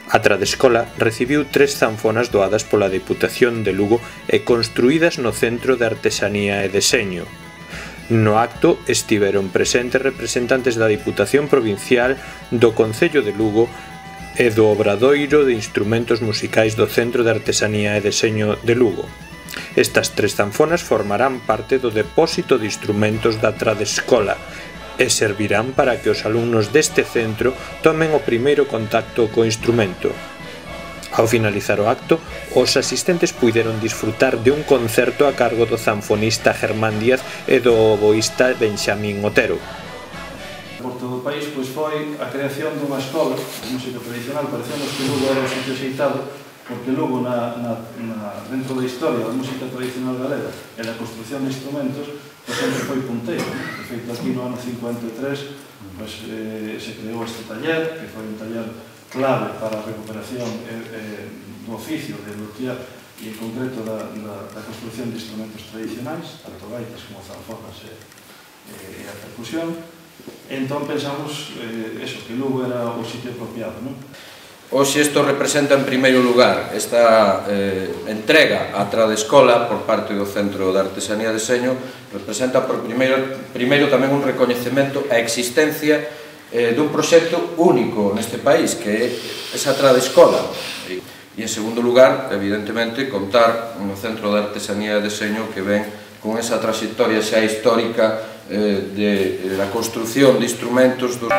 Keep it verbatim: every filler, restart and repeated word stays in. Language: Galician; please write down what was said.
A Tradescola recibiu tres zanfonas doadas pola Deputación de Lugo e construídas no Centro de Artesanía e Deseño. No acto estiveron presentes representantes da Diputación Provincial, do Concello de Lugo e do Obradoiro de Instrumentos Musicais do Centro de Artesanía e Deseño de Lugo. Estas tres zanfonas formarán parte do depósito de instrumentos da Tradescola e servirán para que os alumnos deste centro tomen o primeiro contacto co instrumento. Ao finalizar o acto, os asistentes puideron disfrutar de un concerto a cargo do zanfonista Germán Díaz e do oboísta Benxamín Otero. Por todo o país pois foi a creación dunha escola de música tradicional. Parecemos que Lugo era o sitio xeitado, porque Lugo na, na, na, dentro da historia da música tradicional galega e da construcción de instrumentos pois sempre foi punteiro. De feito, aquí no ano cincuenta e tres pois, eh, se creou este taller, que foi un taller clave para a recuperación eh, eh, do oficio de luthier e en concreto da, da, da construcción de instrumentos tradicionais, tanto gaitas como zanfonas e, e a percusión. Entón pensamos eh, eso, que Lugo era o sitio apropiado, non? Hoxe isto representa en primeiro lugar esta eh, entrega á Tradescola por parte do Centro de Artesanía e Deseño, representa por primeiro, primeiro tamén un recoñecemento á existencia eh, dun proxecto único neste país, que é esa Tradescola. E, e en segundo lugar, evidentemente, contar no Centro de Artesanía e Deseño que ven con esa trayectoria xa histórica eh, de, de la construción de instrumentos dos...